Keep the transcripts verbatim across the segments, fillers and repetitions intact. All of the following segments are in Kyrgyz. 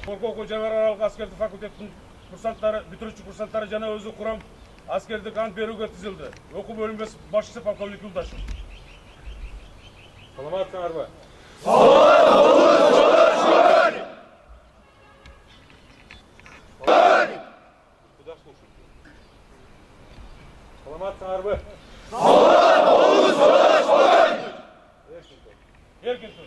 Коркоо жаңы аралык аскердик факультеттин курсанттары, бүтүрүүчү курсанттары жана өзү курам аскердик ант берүүгө тизилди. Окуу бөлүмөсү башчысы полковник Юлдашев. Саламатсыңарбы? Саламатсыңарбы? Эркин тур.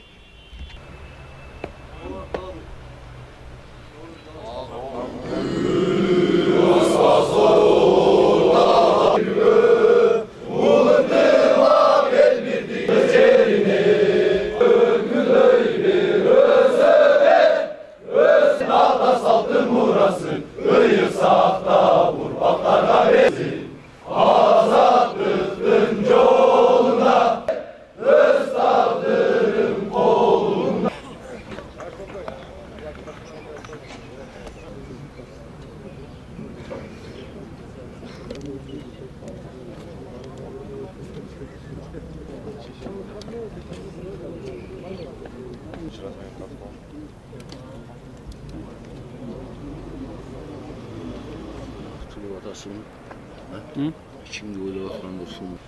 İçimde öyle bakran dursun.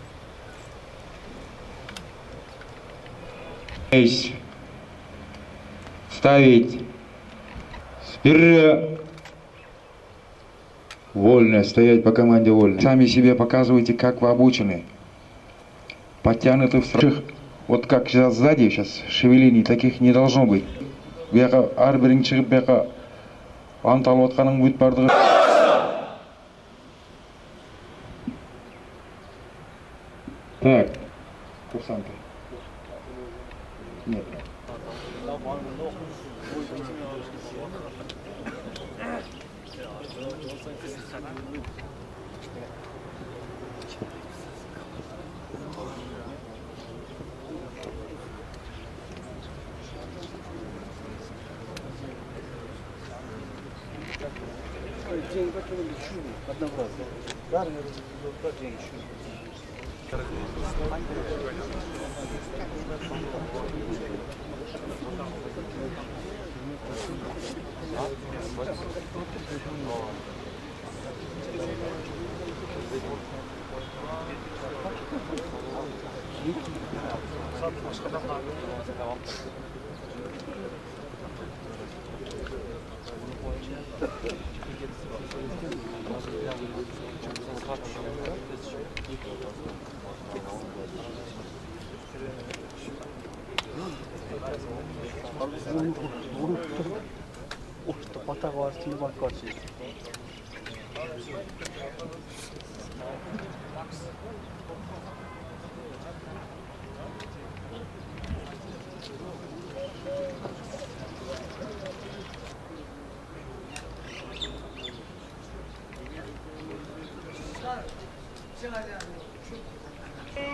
Ставить вперед. Вольно, стоять по команде вольно. Сами себе показывайте, как вы обучены. Подтянуты в страх. Вот как сейчас сзади, сейчас шевелений таких не должно быть. Бияка ар бириң чыгып бияка ант алып атканың бүт бардыгы. Так, курсанты. Нет. Деньги покинули чудо однообразно. Да, наверное, деньги чудо. Orta patak var, silvan kaçı.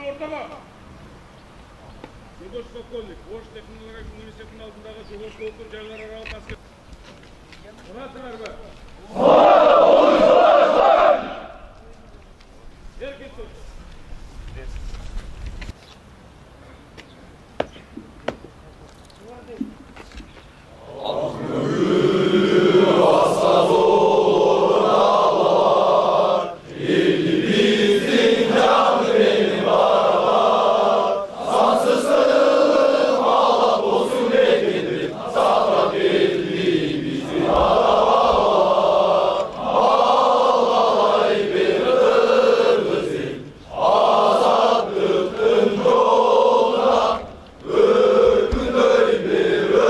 Ortaga. Юлдаш полковник, Ош технологиялык университетинин алдындагы жогорку окуу жайлар аралык аскер. Саламатсыңарбы? Эркин тур. Azadlıktın yoluna, öykünöy bir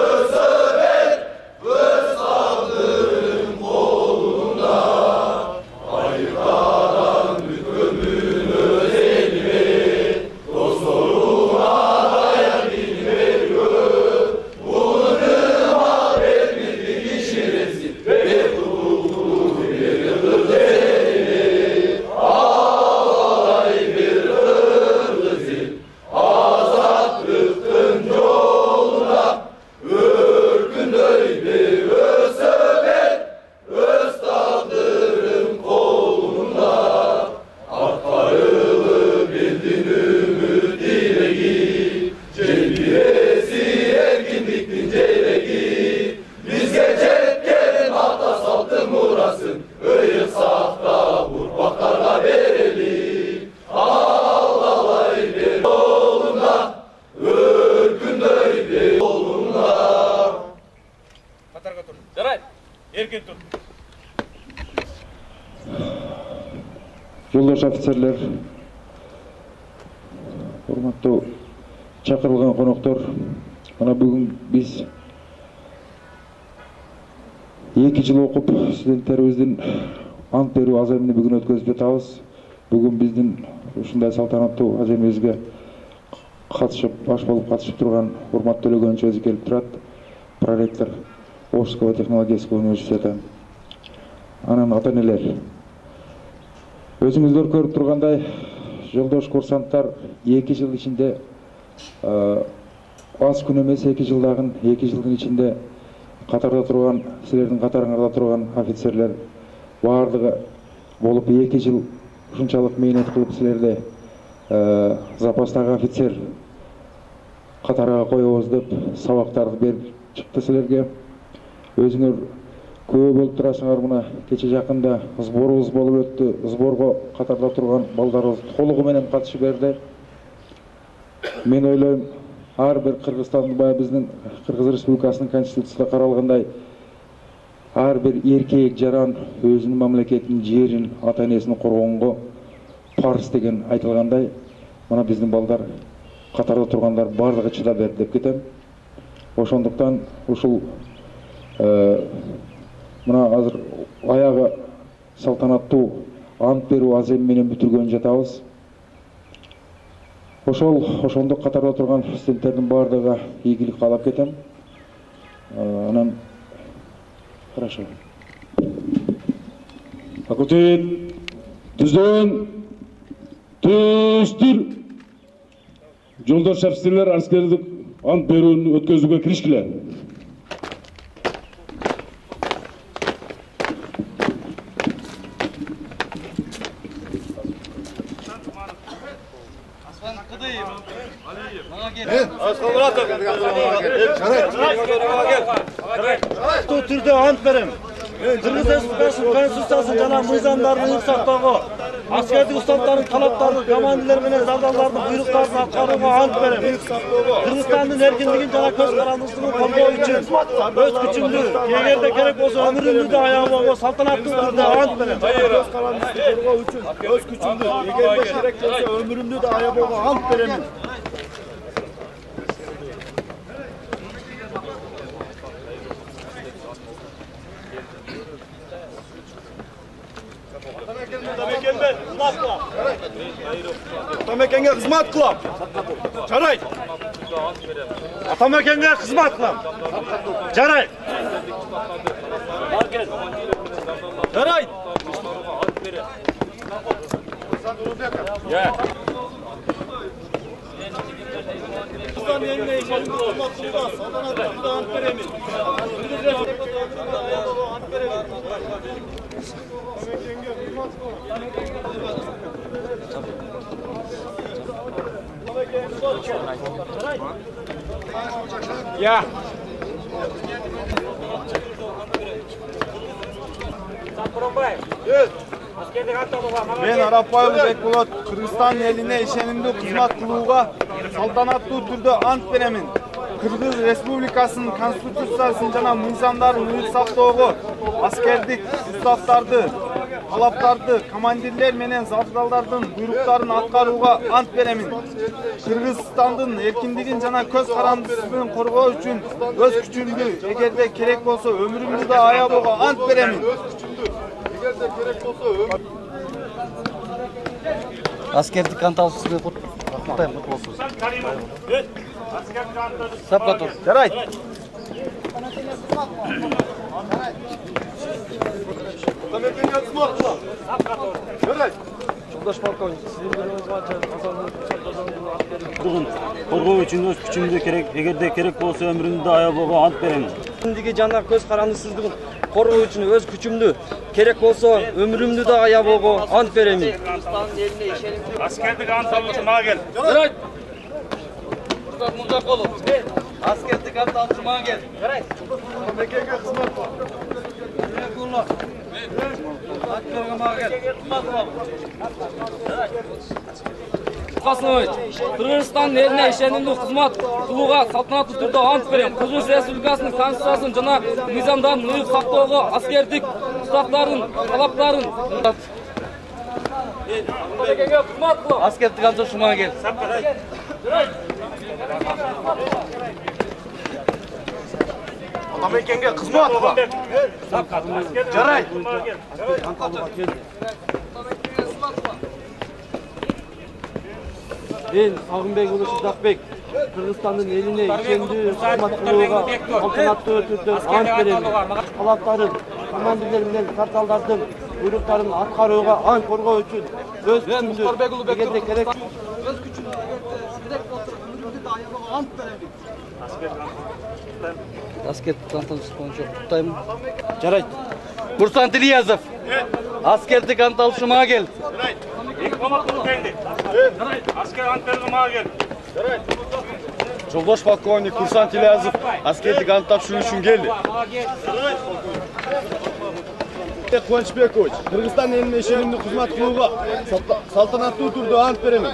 жолдош офицерлер, урматтуу чакырылган коноктор, мына бүгүн биз эки жыл окуп студенттерибиздин ант берүү аземини бүгүн өткөзүп жатабыз. Бүгүн биздин ушундай салтанаттуу аземибизге катышып, баш болуп катышып турган урматтуу төлөгөнчү өзү келип турат, проректор Волжского технологического университета. Анан ата-энелер. Өзүңүздөр көрүп тургандай, жолдош курсанттар эки жыл ичинде аз күн эмес, эки жылдагы эки жылдын ичинде катарда турган, силердин катарыңарда турган офицерлер баардыгы болуп эки жыл ушунчалык мээнет кылып силерди запастагы офицер катарга коебуз деп сабактарды берип чыкты силерге. Өзүңөр күбө болуп турасыңар, мына кече жакында сборубуз болуп өттү. Сборго катарда турган балдарыбыз толугу менен катышып берди. Мен ойлойм, ар бир Кыргызстандын, баягы биздин Кыргыз Республикасынын конституциясында каралгандай, ар бир эркек жаран өзүнүн мамлекетин, жерин, ата-энесин коргонго парыз деген айтылгандай, мына биздин балдар катарда тургандар бардыгы чыдап берди деп кетем. Ошондуктан ушул мына азыр аягы салтанаттуу ант берүү аземи менен бүтүргөн жатабыз. Ошол ошондук катарда турган студенттердин бардыгы ийгилик каалап кетем. Анан хорошо. Факультет түздөн түстүр. Жолдош офицерлер аскердик ант берүүнү өткөзүүгө киришкиле. Бул түрдө ант берем. Кыргыз Республикасынын конституциясын жана мыйзамдарын сактоого, аскердик уставдардын талаптарын, командирлер менен завдалардын буйруктарын аткарууга ант берем. Кыргызстандын эркиндигин жана көз карандысыздыгын коргоо үчүн өз күчүмдү, эгерде керек болсо өмүрүмдү да аябоого салтанаттуу түрдө ант берем. Көз карандысты коргоо үчүн өз күчүмдү, эгерде керек болсо өмүрүмдү да аябоого ант берем. Атамекенге кызмат кылам. Жарайт. Атамекенге кызмат кылам. Жарайт. Жарайт. Ya. Мен Арапбаев Бекболот Кыргызстан элине ишенимдүү кызмат кылууга салтанаттуу түрдө ант беремин. Кыргыз Республикасынын конституциясын жана мыйзамдарын ыйык сактоого, аскердик уставдарды, талаптарды, командирлер менен завдалдардын буйруктарын аткарууга ант беремин. Кыргызстандын эркиндигин жана көз карандысыздыгын коргоо үчүн өз күчүмдү, эгерде керек болсо өмүрүмдү да аябоого ант беремин. Эгерде керек болсо Аскердик ант алышыбызды куттуктайм, кут болсун. Сапка тур. Жарайт. Атамекенге кызмат кылам. Сапка тур. Жарайт. Жолдош полковник, сиздин берүүңүз боюнча Бүгүн коргоо үчүн өз күчүмдү керек, эгерде керек болсо өмүрүмдү да аябоого ант беремин. Эркиндиги жана көз карандысыздыгын коргоо үчүн өз күчүмдү, керек болсо өмүрүмдү да аябоого ант беремин. Аскердик ант алуучу мага кел. Жарайт. Мурзакулов. Аскердик ант алуучу мага кел. Жарайт. Атамекенге кызмат кылам. Касымович, Кыргызстан элине ишенимдүү кызмат кылууга салтанаттуу түрдө ант берем. Кыргыз Республикасынын конституциясын жана мыйзамдарын ыйык сактоого, аскердик уставдардын талаптарын Аскердик Антон Шумагел. Атамекенге кызмат кыла. Жарайт. Мен Сагынбек уулу Шыдакбек Кыргызстандын элине ишендүү кызмат кылууга салтанаттуу түрдө ант берем. Талаптарын, командирлер менен карталдардын буйруктарын аткарууга ант коргоо үчүн өз күчүмдү эгерде керек өз күчүмдү керек болсо өмүрүмдү аябага ант берем. Аскердик Антон Шумагел. Жарайт. Курсант Ильязов. Аскердик Антон Шумагел. Аскер ант берүүгө мага кел. Жолдош полковник Курсант Ильязов аскердик ант тапшыруу үчүн келди. Кубанычбекович, Кыргызстан элине ишенимдүү кызмат кылууга салтанаттуу түрдө ант берем.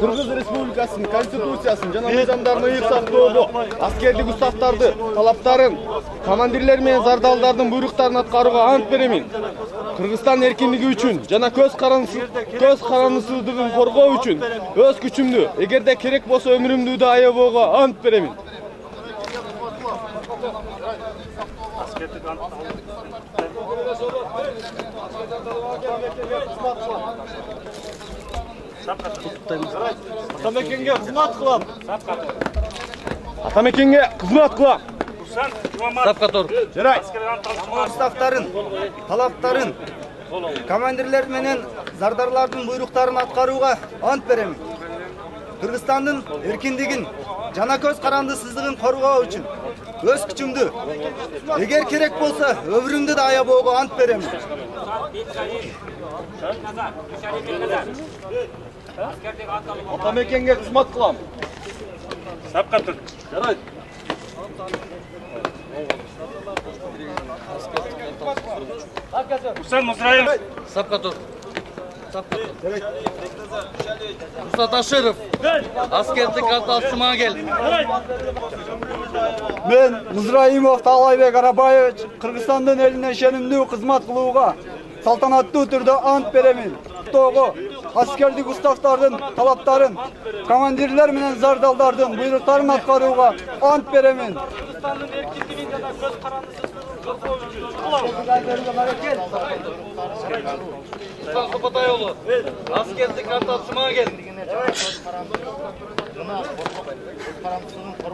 Кыргыз Республикасынын Конституциясын жана мыйзамдарын ыйык сактоодо аскердик уставдарды, талаптарын, командирлер менен зардалдардын буйруктарын аткарууга ант берем. Кыргызстан эркиндиги үчүн жана көз карандысыздыгын коргоо үчүн өз күчүмдү, эгерде керек болсо өмүрүмдү да аябоого ант берем. Атамекенге кызмат кылам. Атамекенге кызмат кылам. Сапкатор. Жарайт. Уставтарын, талаптарын, командирлер менен зардарлардын буйруктарын аткарууга ант берем. Кыргызстандын эркиндигин жана көз карандысыздыгын коргоо үчүн өз күчүмдү, эгер керек болсо өмүрүмдү да аябоого ант берем. Атамекенге кызмат кылам. Сапкатор. Жарайт. Усен Музраев. Сапкатор. Мурсат Аширов. Аскердик Антон Шумагел. Мен Музраимов Талайбек Арабаевич Кыргызстандын элине ишенимдүү кызмат кылууга салтанаттуу түрдө ант берем. Того аскердик уставдардын, талаптарын, командирлер менен зардалдардын буйруктарын аткарууга ант берем. Кыргызстандын эркиндигин жана көз карандысыздыгын коргоо үчүн Сопотайоğlu. Аскердик Антон Шумагел.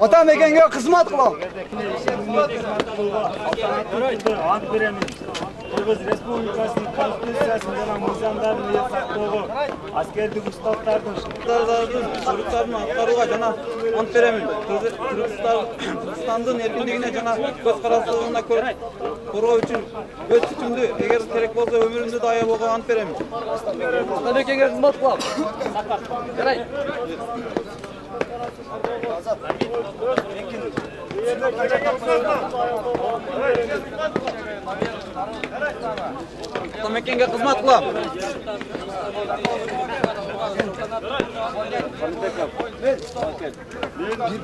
Атамекенге кызмат кылам. Ант берем. Кыргыз Республикасынын Конституциясын жана мыйзамдарын ыйык сактоого аскердик уставдардын, Зардалдардын буйруктарын аткарууга жана ант берем. Кыргызстандын эркиндигине жана көз карандысыздыгына коргоо үчүн өз күчүмдү, эгер керек болсо өмүрүмдү да аябоого ант берем. Атамекенге кызмат кылам. Жарайт. Атамекенге кызмат кылам.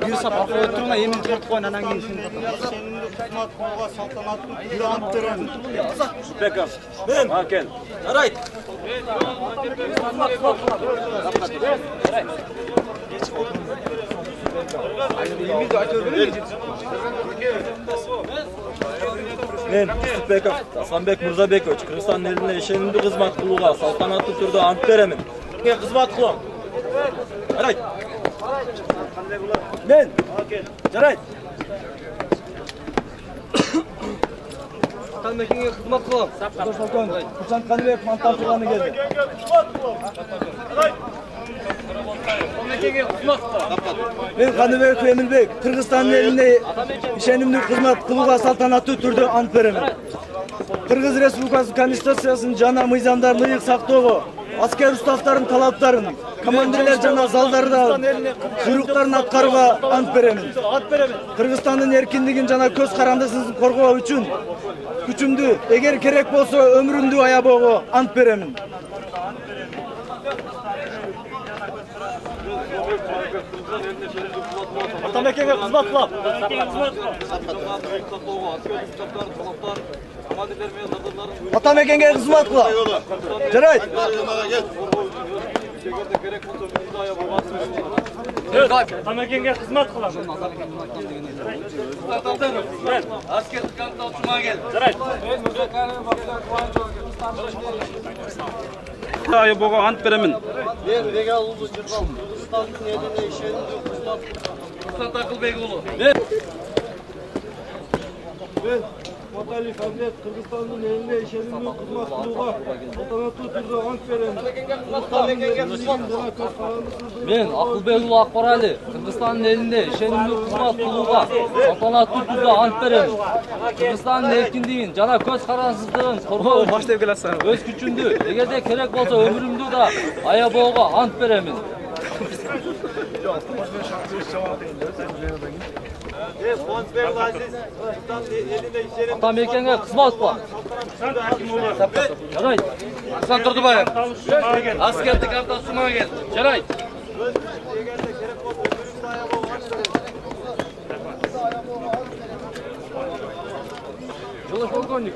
бир сапар өтүрүнө эмин чыгартып коюн, анан кийин сен кызмат кылууга салтанаттуу түрдө ант берем. Беков. Мен. Акен. Жарайт. Мен Беков Асанбек Мырзабекович Кыргызстан элине ишенимдүү кызмат кылууга салтанаттуу түрдө ант берем. Кызмат кылам. Жарайт. Мен. Жарайт. Атамекенге кызмат кылам. Курсант Каныбек мантапчыланы келди. Мен Каныбек Эмилбек Кыргызстандын элине ишенимдүү кызмат кылууга салтанаттуу түрдө ант берем. Кыргыз Республикасынын Конституциясын жана мыйзамдарын ыйык сактоого аскер уставдардын, талаптарын, командирлер жана залдарда буйруктарын аткарууга ант берем. Кыргызстандын эркиндигин жана көз карандысыздыгын коргоо үчүн күчүмдү, эгер керек болсо өмүрүмдү аябоого ант берем. Атамекенге кызмат кылам. Атамекенге кызмат кылам. Жарайт. Атамекенге кызмат кылам. Аскердик кантта учума кел. Жарайт. Аябога ант беремин. Мен Вегал уулу Жыргал Кыргызстандын элине ишенимдүү кызмат Рустам Акылбек уулу. Мен Маталиев Амлет Кыргызстандын элине ишенимдүү кызмат кылууга салтанаттуу түрдө ант берем. Мен Акылбек уулу Акбарали Кыргызстандын элинде ишенимдүү кызмат кылууга салтанаттуу түрдө ант берем. Кыргызстандын эркиндигин жана көз карансыздыгын коргоо өз күчүмдү, эгерде керек болсо өмүрүмдү да аябоого ант беремин. Атамекенге кызмат кылам. Жарайт. Асан Турдубаев. Аскердик кантта учума кел. Жарайт. Жолдош полковник.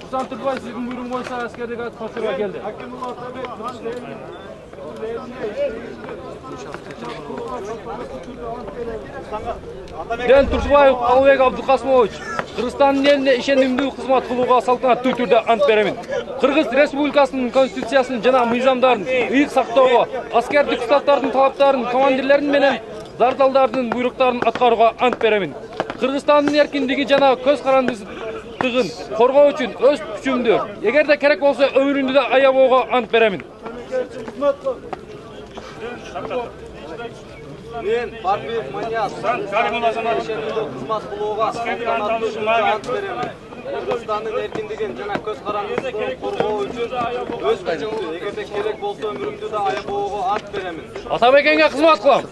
Асан Турдубаев сиздин буйругуңуз боюнча аскердик катышууга келди. Мен Турсубаев Албек Абдыкасымович Кыргызстандын элине ишенимдүү кызмат кылууга салтанаттуу түрдө ант беремин. Кыргыз Республикасынын конституциясын жана мыйзамдарын ыйык сактоого, аскердик уставдардын талаптарын, командирлердин менен зардалдардын буйруктарын аткарууга ант беремин. Кыргызстандын эркиндиги жана көз карандысыздыгын коргоо үчүн өз күчүмдү, эгерде керек болсо өмүрүмдү да аябоого ант беремин. Мен Барбиев Манияз ишенимдүү кызмат кылууга салтанаттуу түрдө ант беремин. Кыргызстандын эркиндигин жана көз карандысыздыгын коргоо үчүн өз күчүмдү, эгерде керек болсо өмүрүмдү да аябоого ант беремин. Атамекенге кызмат кылам.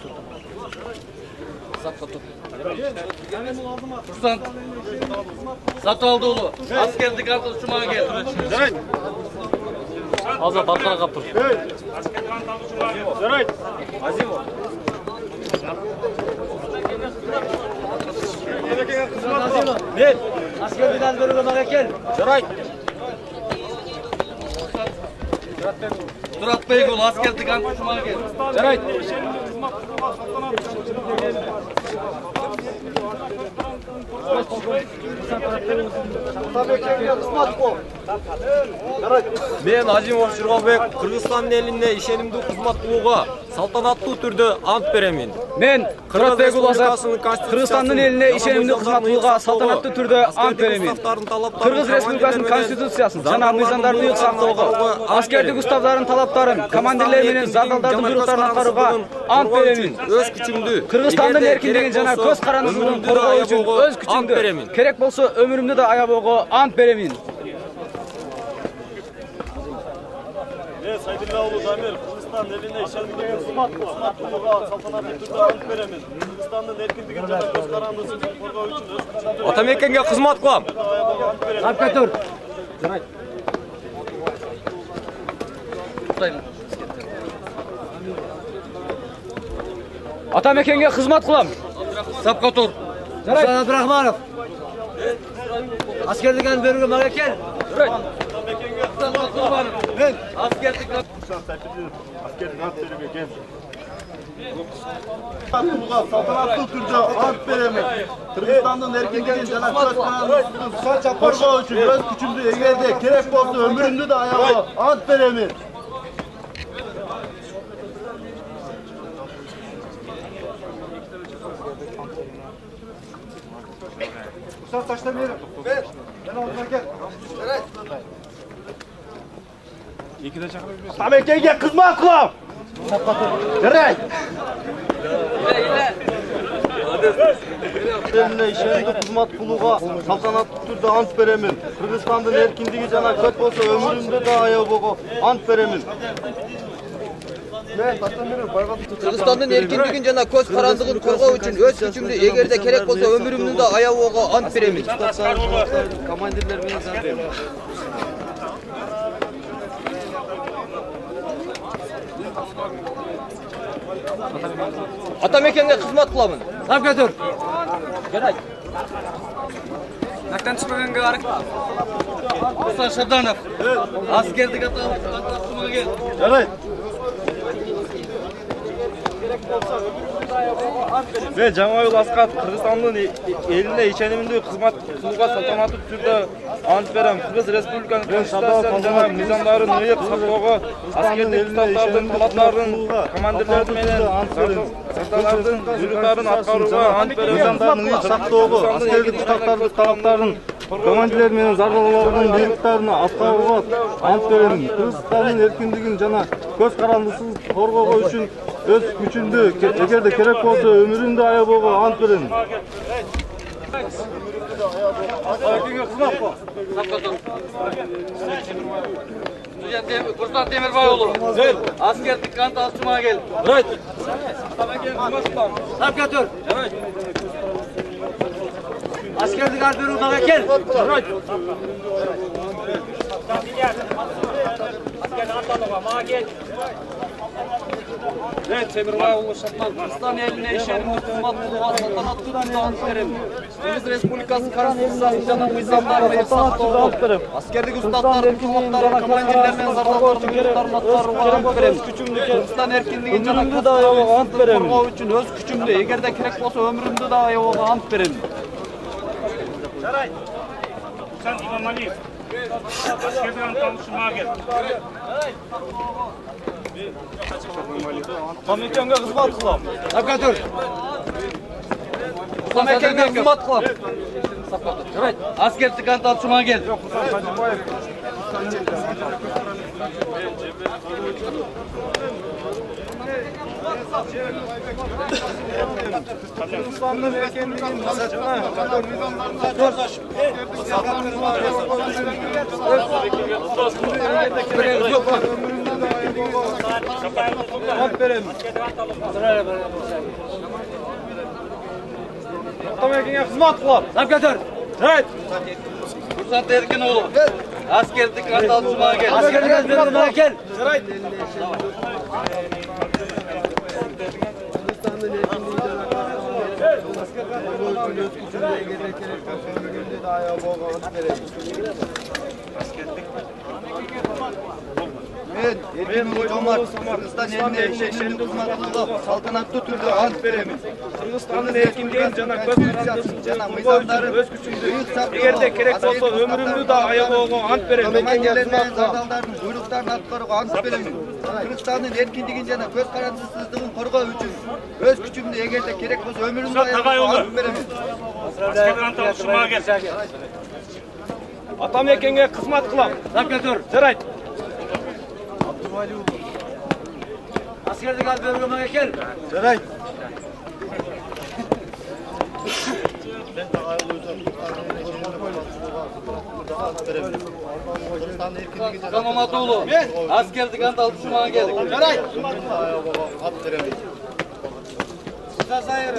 Сатып уулу, аскердик кантта учума кел. Жарайт. Азат аркага каптыр. Жарайт. Азимов. Мен аскердик ант берүүгө мага кел. Жарайт. Туратбек уулу, аскердик кантта учума кел. Жарайт. Мен Азимов Жыргалбек Кыргызстандын элине ишенимдүү кызмат кылууга салтанаттуу түрдө ант беремин. Мен Туратбек уулу Кыргызстандын элине ишенимдүү кызмат кылууга салтанаттуу түрдө ант беремин. Кыргыз Республикасынын конституциясын жана мыйзамдарын ыйык сактоого, аскердик уставдардын талаптарын, командирлер менен зардалдардын буйруктарын аткарууга ант беремин. Өз күчүмдү, Кыргызстандын эркиндигин жана көз карандысыздыгын коргоо үчүн өз күчүмдү, керек болсо өмүрүмдү да аябоого ант беремин. Мен Сайдулла уулу Дамир Кыргызстан элине ишенимдүү кызмат кылууга салтанаттуу түрдө ант беремин. Кыргызстандын эркиндигин жана көз карандысыздыгын коргоо үчүн өз күчүмдү. Атамекенге кызмат кылам. Апкатур. Жарайт. Атамекенге кызмат кылам. Сапка тур. Жарайт. Абдрахманов. Аскердик ант берүүгө мага кел. Жарайт. Мен аскердик аскердик ант берүүгө кел. Салтанаттуу түрдө ант беремин. Кыргызстандын эркиндигин жана көз карандысыздыгын коргоо үчүн өз күчүмдү, эгерде керек болсо өмүрүмдү да аябоого ант беремин. Ушан ташта берип. Мен алдыма кел. Жарайт. Экиде чакырып берсең. Атамекенге кызмат кылам. Жарайт. Элине ишенимдүү кызмат кылууга салтанаттуу түрдө ант беремин. Кыргызстандын эркиндиги жана көт болсо өмүрүмдү да аябоого ант беремин. Кыргызстандын эркиндигин жана көз карандыгын коргоо үчүн өз күчүмдү, эгерде керек болсо өмүрүмдү да аябоого ант беремин. Командирлер менен зардалдардын Атамекенге кызмат кыламын. Сап кетир. Жарайт. Нактан чыкпаганга арак. Руслан Шабданов. Аскердик аталыктыма кел. Жарайт. Мен Жаңабыл Аскат Кыргызстандын элине ишенимдүү кызмат кылууга салтанаттуу түрдө ант берем. Кыргыз Республикасынын Конституциясын жана мыйзамдарын ыйык сактоого, аскердик уставдардын талаптарын, командирлердин менен зардалардын буйруктарын аткарууга ант берем. Мыйзамдарын ыйык сактоого, аскердик уставдардын талаптарын, командирлер менен зардалардын буйруктарын аткарууга ант берем. Кыргызстандын эркиндигин жана көз карандысын коргоо үчүн өз күчүмдү, эгерде керек болсо өмүрүмдү аябоого ант берем. Курсан Темирбай уулу. Аскердик ант алчумага кел. Жарайт. Сап кетир. Жарайт. Аскердик ант берүүгө кел. Жарайт. Аскердик ант алууга мага кел. Мен Темирбай уулу Шапман Кыргызстан элине ишенимдүү кызмат кылууга салтанаттуу түрдө ант берем. Кыргыз Республикасынын Конституциясын жана мыйзамдарын ыйык сактоого, аскердик уставдардын талаптарын, командирлер менен зардалардын буйруктарын аткарууга ант берем. Кыргызстан эркиндигин жана көз карандысын ант берем. Коргоо үчүн өз күчүмдү, эгерде керек болсо өмүрүмдү да аябоого ант берем. Жарайт. Сен Имамалиев. Аскердик ант алчумага кел. Атамекенге кызмат кылам. Сап кетир. Атамекенге кызмат кылам. Жарайт. Аскердик ант алчумага кел. Kırgızistan'ın erkenliğinin masasına Атамекенге кызмат кылам. Сап кетир. Жарайт. Курсан Эркин уулу. Аскердик ант алчумага кел. Аскердик ант берүүгө кел. Жарайт. Мен Эркин Жомарт Кыргызстан элине ишенимдүү кызмат кылууга салтанаттуу түрдө ант берем. Кыргызстандын эркиндигин жана көз карандысын жана мыйзамдарын өз күчүмдү, эгерде керек болсо өмүрүмдү да аябоого ант берем. Командирлер менен зардалдардын буйруктарын аткарууга ант берем. Кыргызстандын эркиндигин жана көз карандысыздыгын коргоо үчүн өз күчүмдү, эгерде керек болсо өмүрүмдү аябоого ант берем. Аскердик ант алчумага кел. Атамекенге кызмат кылам. Сап кетир. Жарайт. Аскердик ант берүүгө кел. Жарайт. Камамат уулу. Аскердик ант алчумага кел. Жарайт.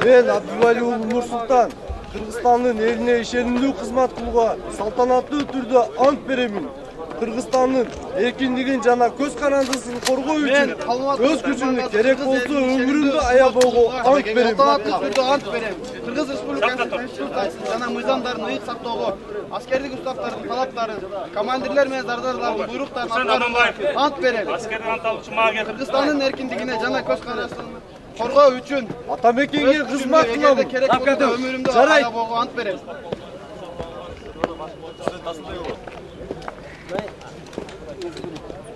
Мен Абдували уулу Нурсултан Кыргызстандын элине ишенимдүү кызмат кылууга салтанаттуу түрдө ант беремин. Кыргызстандын эркиндигин жана көз карандысын коргоо үчүн өз күчүмдү, керек болсо өмүрүмдү аябоого ант берем. Салтанаттуу түрдө ант берем. Кыргыз Республикасынын Конституциясын жана мыйзамдарын ыйык сактоого, аскердик уставдардын талаптарын, командирлер менен зардалардын буйруктарын аткарууга ант берем. Аскердик ант алчумага кел. Кыргызстандын эркиндигине жана көз карандысын коргоо үчүн Атамекенге кызмат кылам. керек болсо өмүрүмдү аябоого ант берем.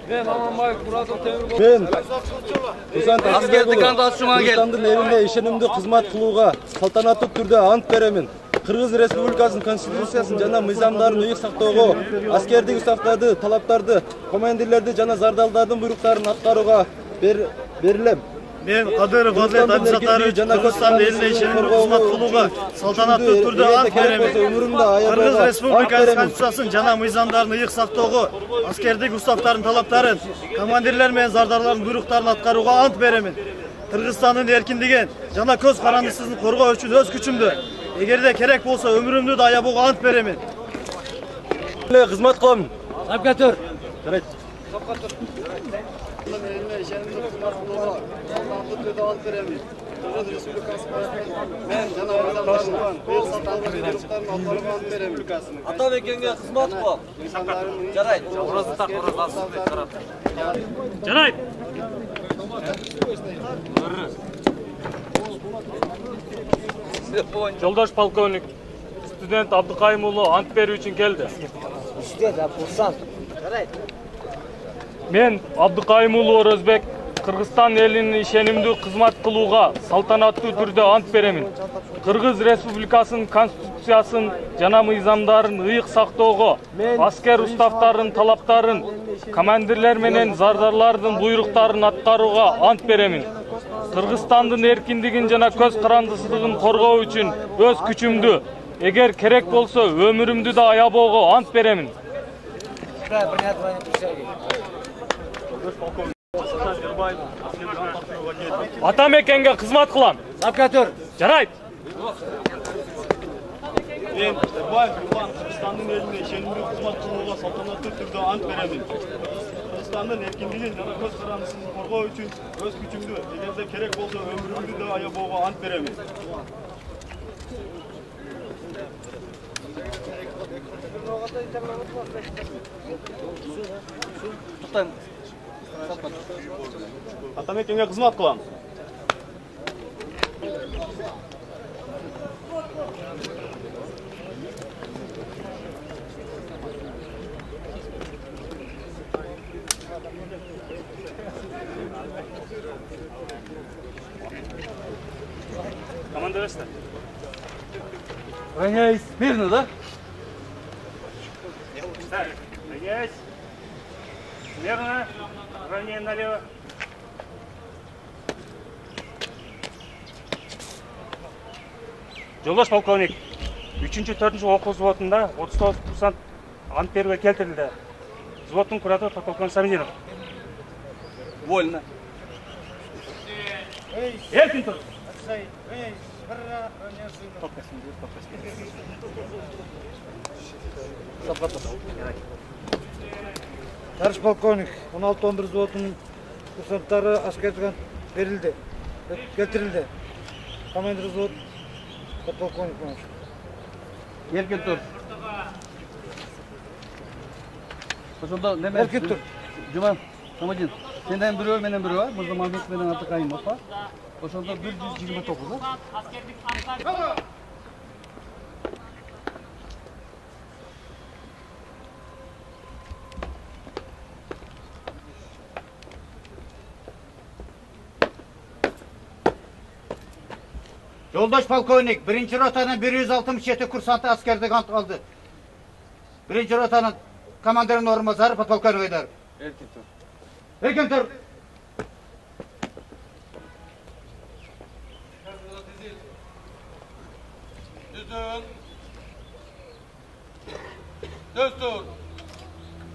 Мен Аманбаев Муратов Темирбай. Мен Аскердик ант алчумага кел. Кыргызстандын элине ишенимдүү кызмат кылууга салтанаттуу түрдө ант беремин. Кыргыз Республикасынын Конституциясын жана мыйзамдарын ыйык сактоого, аскердик уставдарды, талаптарды, командирлерди жана зардалдардын буйруктарын аткарууга берилем. Мен Кадыров Азат Абдусаттарович Кыргызстан элине ишенимдүү кызмат кылууга салтанаттуу түрдө ант берем. Кыргыз Республикасынын Конституциясын жана мыйзамдарын ыйык сактоого, аскердик уставдардын талаптарын, командирлер менен зардалардын буйруктарын аткарууга ант берем. Кыргызстандын эркиндигин жана көз карандысын коргоо үчүн өз күчүмдү, эгерде керек болсо өмүрүмдү да аябоого ант берем. Кызмат кылам. Сап кетир. Жарайт. Eline işenimli kızmat kılığa, saltanatlı türde ant veremin. Kırgız Respublikası men Jana Mıyzamdarlı'nın beyik saktogу buyrukların atlarına ant veremin. Атабекенге кызмат кылам. Жарайт. Орозу так, орозу алсызбек тарап. Жарайт. Жолдош полковник, студент Абдыкайым уулу ант берүү үчүн келди. Иште да курсант. Жарайт. Мен Абдыкайым уулу Орозбек Кыргызстан элине ишенимдүү кызмат кылууга салтанаттуу түрдө ант беремин. Кыргыз Республикасынын конституциясын жана мыйзамдарын ыйык сактоого, аскер уставтардын талаптарын, командирлер менен зардарлардын буйруктарын аткарууга ант беремин. Кыргызстандын эркиндигин жана көз карандысыздыгын коргоо үчүн өз күчүмдү, эгер керек болсо өмүрүмдү да аябоого ант беремин. Атамекенге кызмат кылам. Сапкатөр. Жарайт. Мен Эрбаев Курбан Кыргызстандын элине ишенимдүү кызмат кылууга салтанаттуу түрдө ант беремин. Кыргызстандын эркиндигин жана көз карандысыздыгын коргоо үчүн өз күчүмдү, эгерде керек болсо өмүрүмдү да аябоого ант беремин. Атамекенге кызмат кылам. Команда берсиңер. Ранейс, мирно, да? Ранейс. Смирно. Ранее налево. Жолдош полковник, үчүнчү төртүнчү окуу взводунда отуз тогуз курсант ант берүүгө келтирилди. Взводдун куратору подполковник Самидинов. Вольно. Эркин тур. Тарыш полковник, он алты он бир взводунун курсанттары аскерден берилди, келтирилди. Командир взвод подполковник болуш. Эркин тур. Ошондо неме? Эркин тур. Жуман, командир. Сенден бирөө менен бирөө, Мырза Мамбет менен Атыкайым апа. Ошондо бир жүз жыйырма тогуз, да? Аскердик анткар. Жолдош полковник, биринчи ротанын бир жүз алтымыш жети курсанты аскердик ант алды. Биринчи ротанын командиринин орун басары подполковник Айдаров. Эркин тур. Эркин тур. Düzün. Düz tur.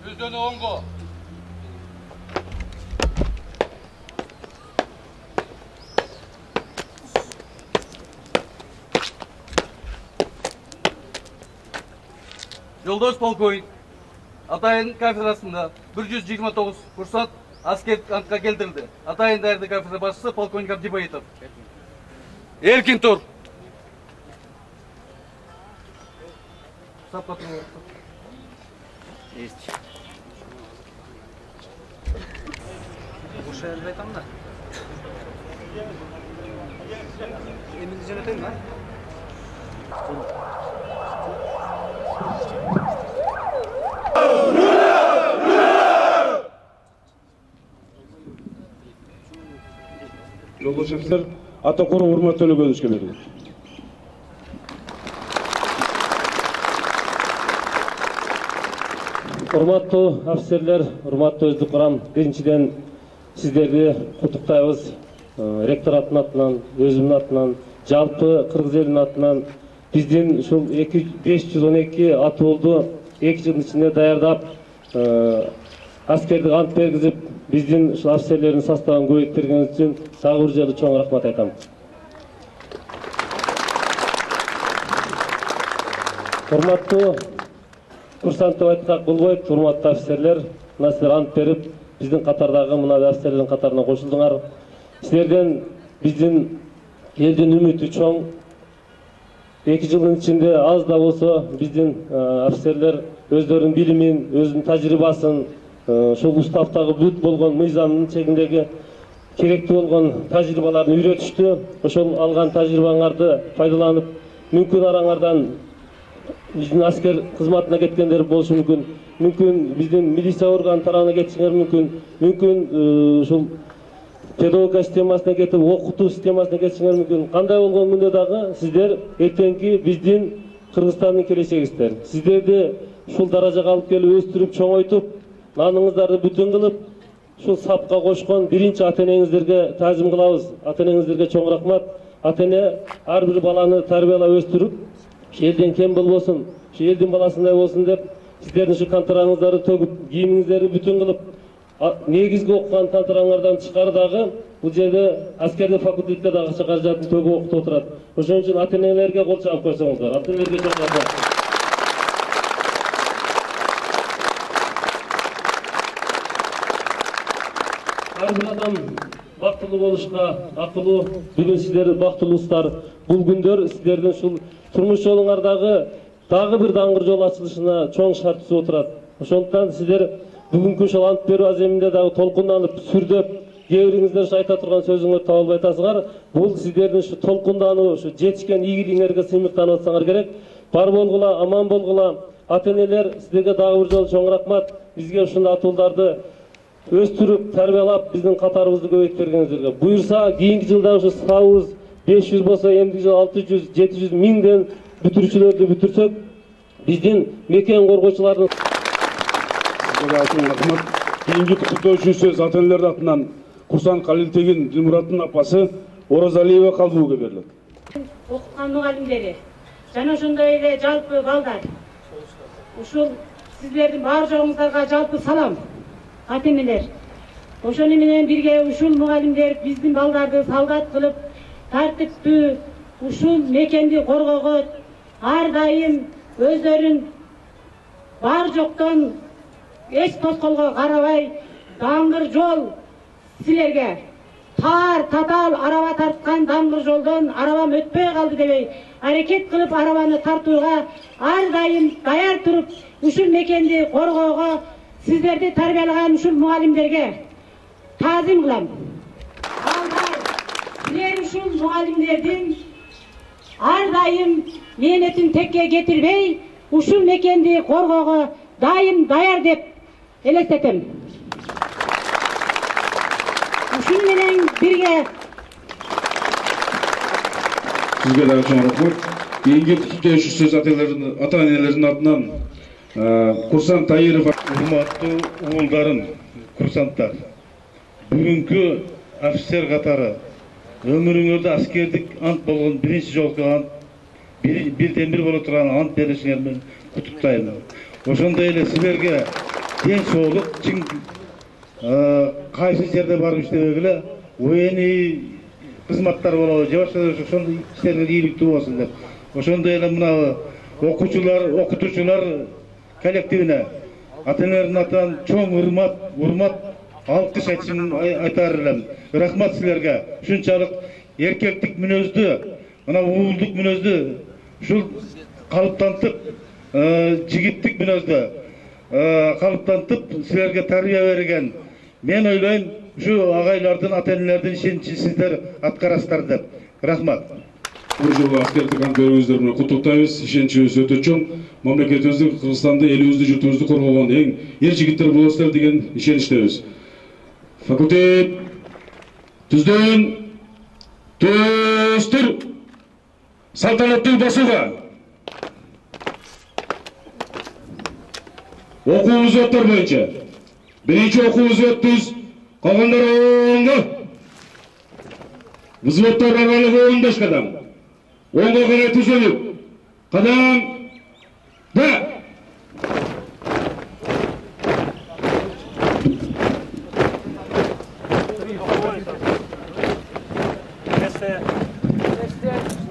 Düzün ongo. Жолдош полковник, Атайын кафедрасында бир жүз жыйырма тогуз курсант аскердик антка келтирилди. Атайын даярдык кафедра башчысы полковник Абдибаитов. Эркин тур. Сапка тур. Есть. Ошо жерде айтам да. Эмилди жөнөтөйүн да? Жолдош офицер Атакуров Урмат Төлөгөновичке берилет. Урматтуу офицерлер, урматтуу өздүк курам, биринчиден сиздерди куттуктайбыз. Ректораттын атынан, өзүмдүн атынан, жалпы кыргыз элинин атынан биздин ушул беш жүз он эки атуулду эки жылдын ичинде даярдап, аскердик ант бергизип, биздин ушул офицерлердин составын көбөйттүргөнүңүз үчүн дагы бир жолу чоң рахмат айтам. Урматтуу курсант деп айткак болбойт, урматтуу офицерлер, мына силер ант берип биздин катардагы мына офицерлердин катарына кошулдуңар. Силерден биздин элдин үмүтү чоң. эки жылдын ичинде аз да болсо биздин офицерлер өздөрүнүн билимин, өзүнүн тажрыйбасын, ошол уставдагы бүт болгон мыйзамдын чегиндеги керектүү болгон тажрыйбаларды үйрөтүштү. Ошол алган тажрыйбаңарды пайдаланып, мүмкүн араңардан биздин аскер кызматына кеткендер болушу мүмкүн. Мүмкүн биздин милиция орган тарабына кетишиңер мүмкүн. Мүмкүн ушул педагогика системасына кетип, окутуу системасына кетишиңер мүмкүн. Кандай болгон күндө дагы сиздер эртеңки биздин Кыргызстандын келечегисиздер. Сиздерди ушул даражага алып келип, өстүрүп, чоңойтуп, наныңыздарды бүтүн кылып, ушул сапка кошкон биринчи ата-энеңиздерге таазим кылабыз. Ата-энеңиздерге чоң рахмат. Ата-эне ар бир баланы тарбиялап өстүрүп, элден кем болбосун, ушу элдин баласындай болсун деп, сиздердин ушу кантараңыздарды төгүп, кийимиңиздерди бүтүн кылып, негизги окуган тантараңардан тышкары дагы бул жерде аскердик факультетке дагы акча каражатын төгүп окутуп отурат. Ошон үчүн ата-энелерге кол чабып койсоңуздар. Ата-энелерге чоң рахмат. Ар бир адам бактылуу болушка акылуу. Бүгүн сиздер бактылуусуздар. Бул күндөр сиздердин ушул турмуш жолуңардагы дагы бир даңгыр жол ачылышына чоң шарт түзүп отурат. Ошондуктан сиздер бүгүнкү ушул ант берүү аземинде дагы толкунданып, сүрдөп, кээ бириңиздер ушу айта турган сөзүңөрдү таба албай атасыңар. Бул сиздердин ушу толкундануу, ушу жетишкен ийгилигиңерге сыймыктанып атсаңар керек. Бар болгула, аман болгула. Ата-энелер, сиздерге дагы бир жолу чоң рахмат. Бизге ушундай атууларды өстүрүп, тарбиялап, биздин катарыбызды көбөйтүп бергениңиздерге. Буюрса, кийинки жылда ушу сабыбыз беш жүз болсо, эмдиги жылы алты жүз, жети жүз миңден бүтүрүүчүлөрдү бүтүрсөк, биздин мекен коргоочулардын рахмат. Кийинки куттуктоочу сөз ата-энелер атынан Курсан Калилтегин Дилмураттын апасы Оразалиева Калбууга берилет. Окуткан мугалимдери жана ошондой эле жалпы балдар. Ушул сиздердин бар жоңуңуздарга жалпы салам. Ата-энелер. Ошону менен бирге ушул мугалимдер биздин балдарды солдат кылып, тартиптүү ушул мекенди коргоого ар дайым өздөрүн бар жоктон эч тоскоолго карабай, даңгыр жол силерге таар татаал араба тарткан даңгыр жолдон арабам өтпөй калды дебей аракет кылып арабаны тартууга ар дайым даяр туруп, ушул мекенди коргоого сиздерди тарбиялаган ушул мугалимдерге таазим кылам. Силер ушул мугалимдердин ар дайым мээнетин текке кетирбей, ушул мекенди коргоого дайым даяр деп элестетем. Ушун менен бирге сизге дагы чоң рахмат. Кийинки куттуктоочу сөз ата-энелердин атынан Курсан Таиров. Урматтуу уулдарым, курсанттар. Бүгүнкү офицер катары өмүрүңөрдө аскердик ант болгон биринчи жолку ант, бирден бир боло турган ант беришиңер менен куттуктайм. Ошондой эле силерге ден соолук, чың кайсы жерде барып иштебегиле, военный кызматтар болобу, же башка ошондой иштерге ийгиликтүү болсун деп. Ошондой эле мына окуучулар, окутуучулар коллективине ата-энелердин атынан чоң урмат, урмат, алкыш айтышын айтар элем. Рахмат силерге. Ушунчалык эркектик мүнөздү, мына уулдук мүнөздү ушул калыптантып, жигиттик мүнөздү калыптантып силерге тарбия берген. Мен ойлойм, ушу агайлардын, ата-энелердин ишеничин сиздер аткарасыздар деп. Рахмат. Бул жолу аскердик ант берүүңүздөр менен куттуктайбыз. Ишеничибиз өтө чоң. Мамлекетибизди, Кыргызстанды, элибизди, журтубузду коргогон эң эр жигиттер болосуздар деген ишеничтебиз. Факультет түздөн түстүр салтанаттуу басууга. Окуу взводдор боюнча биринчи окуу взводубуз калгандар оңго. Взводдор аралыгы он беш кадам. Оңго карай түзөлүп, кадам да.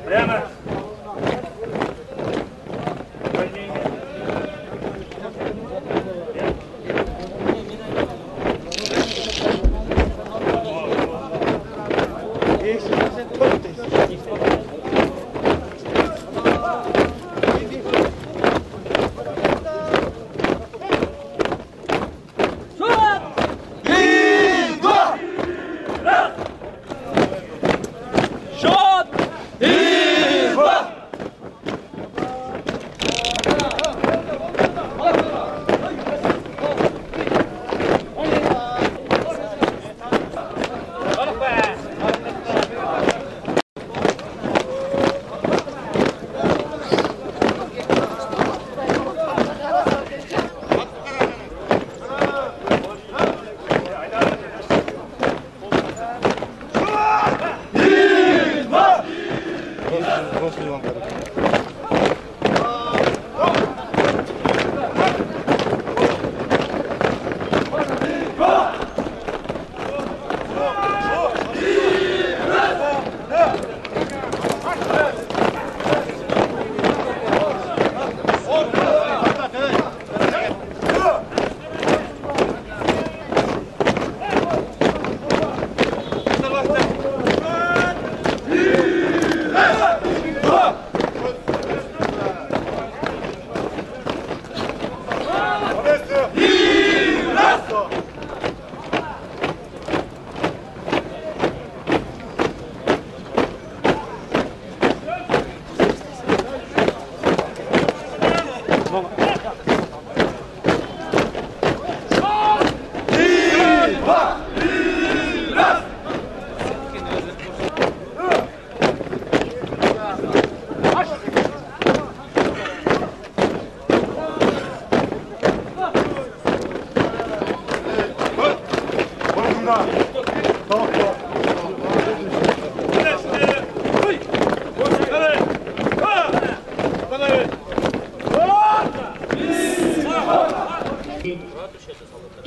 Прямо.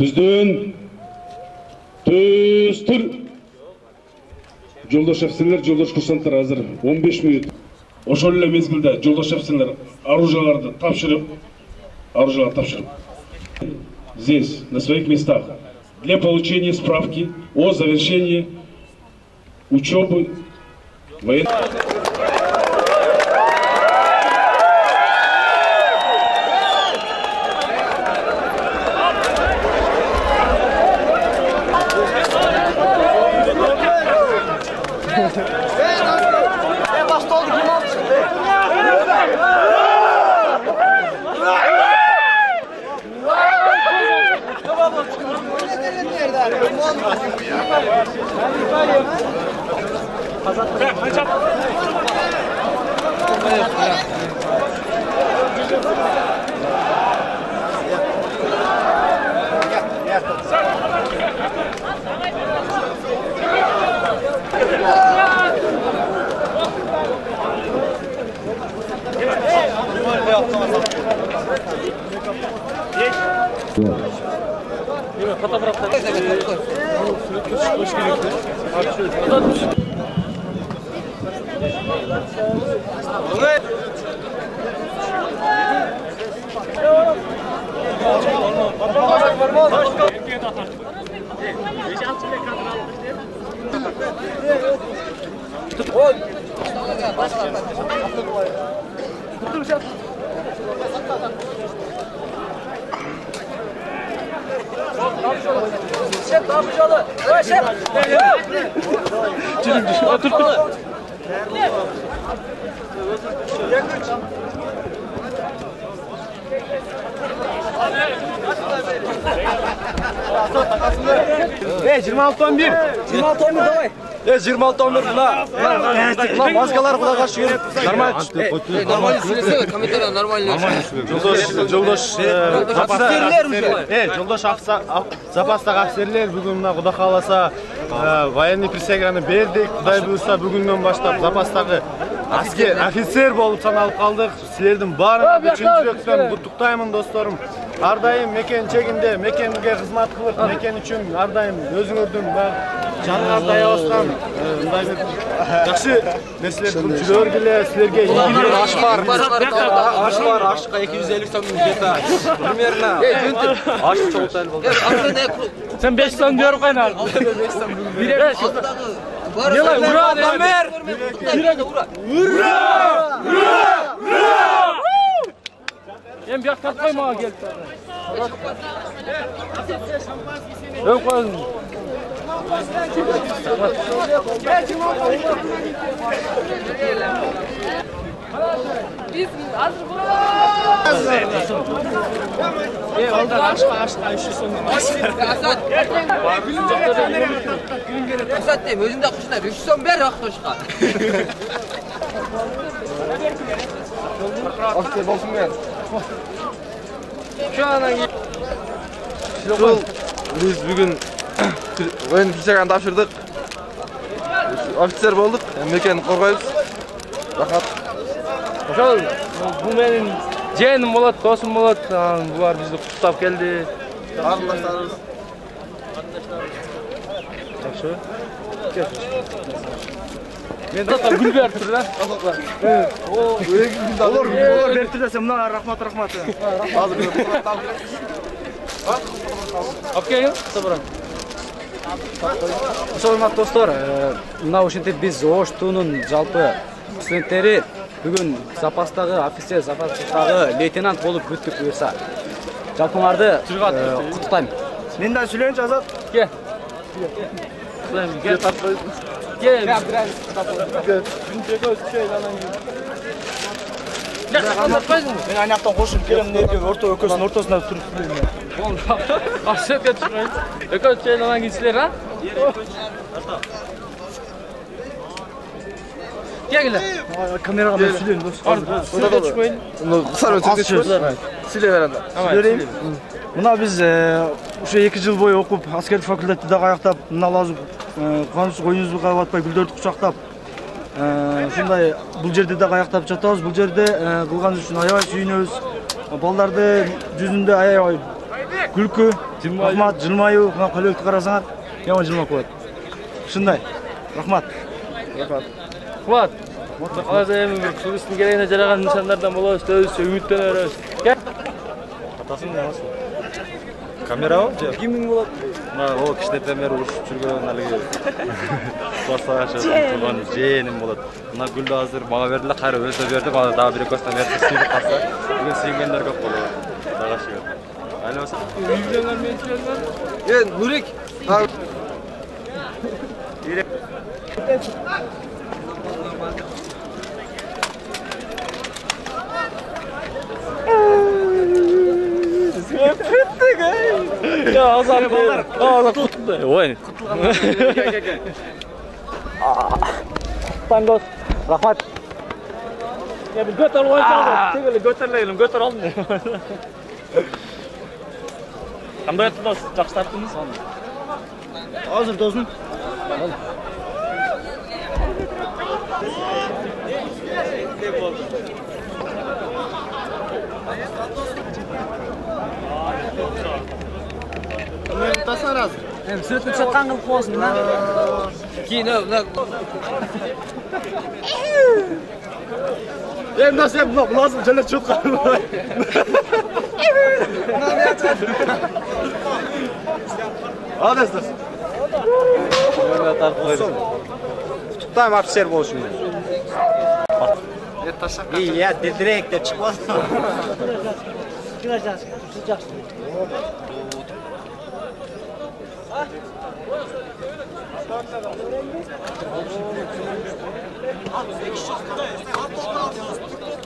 Түздөн түстүр. Жолдош офицерлер, жолдош курсанттар азыр он беш мүнөт. Ошол эле мезгилде жолдош офицерлер оружияларды тапшырып, оружияларды тапшырып. Здесь, на своих местах, для получения справки о завершении учебы военной. Эй, жыйырма алты он бир. жыйырма алты он бир давай. Э, жыйырма алты он бир мына. Мына маскалар куда кашып жүрүп. Нормально. Эй, нормально сүйлөсө, комментария нормально. Жолдош, жолдош запастар. Э, жолдош офицер, запастагы офицерлер бүгүн мына Кудай кааласа военный присяганы бердик. Кудай буйрса бүгүндөн баштап запастагы аскер офицер болуп саналып калдык. Силердин баарыңарды чын жүрөктөн куттуктаймын досторум. Ар дайым мекен чегинде, мекенге кызмат кылып, мекен үчүн ар дайым өзүңөрдүн жаныңарда аябаскан мындай бир жакшы нерселер кылып жүргүлө, силерге ийгилик. Аш бар. Аш бар, ашка эки жүз элүү сом где-то. Примерно. Аш чоңтан болду. Сен беш сом берип кайна. беш сом бүгүн. Делай, ура, Дамир! Ура! Ура! Ура! Эм бияк тартпай мага келип. Өй коюң. Биз азыр Ey, oldu aşka aşka işi sonu. Asat. Asat deyim, özünde kuşlar. Üç son ver aktoşka. Asker bolsun ben. Şu anan Ушул биз бүгүн оюн кичаган тапшырдык. Офицер болдук, мекени коргойбуз. Рахмат. Ошол бул менин жээним болот, досум болот. Булар бизди куттап келди. Карындаштарыбыз. Жакшы. Мен да гүл берип тур да. Олар олар берип тур десем, мына рахмат рахмат. Азыр Окей, добро. Урматтуу достор, мына ушинтип биз Оштунун жалпы студенттери бүгүн запастагы офицер, запастагы лейтенант болуп бүттүк буюрса. Жалпыңарды куттуктайм. Мен да сүйлөйүнчү Азат. Кел. Кел. Кел. Мен анактан кошуп келем, орто өкөсүнүн ортосунда туруп сүйлөйм. Болду. Ашык чыгайын. Экөө чайланган кишилер, а? Кегиле. Камерага мен сүйлөйм, дос. Сүйлөп чыкпайын. Кысар өтүп сүйлөй берем. Сүйлөйм. Мына биз ушу эки жыл бою окуп, аскердик факультетти дагы аяктап, мына лазым канус коюнубузду кабап атпай, гүлдөрдү кучактап, ушундай бул жерде дагы аяктап жатабыз. Бул жерде кылганыбыз үчүн аябай сүйүнөбүз. Балдарды жүзүндө аябай күлкү, рахмат, жылмаюу, мына коллективди карасаңар, яма жылмап коет. Ушундай. Рахмат. Рахмат. Рахмат. Азыр эми бир туристтин керегине жараган нышандардан болобуз, өзүбүзчө үмүттөнөбүз. Кел. Атасын эмес. Камерабы? Кимдин болот? Мына о кичинекейден бери урушуп жүргөн алиги класстагы турган жээним болот. Мына гүлдү азыр мага бердиле, кайра өзүнө бердим, аны дагы бир экөөсүнөн берип сүйүп калса, бүгүн сүйгөндөр көп болот. Дагы шүгүр. Айлабаса. Үйдөн мен сүйлөдүм. Э, Нурик. Ya Azat balдар. Azat куттукту. Ой. Тангос. Рахмат. Я бир көтөрүп койсоң, тегеле көтөрөлөйүм, көтөрө алдым. Кандай аттыңыз? Жакшы тарттыңыз? Азыр досум. Мен тасар азыр. Эми сүрөтүп чыккан кылып коесуң да. Кийин мына Эми да сен мына булазым жана чөткөн. Адас дос. Мына тартып койдум. Куттуктайм офицер болушум менен. Ия, дирдирек деп чыкпады. Жакшы.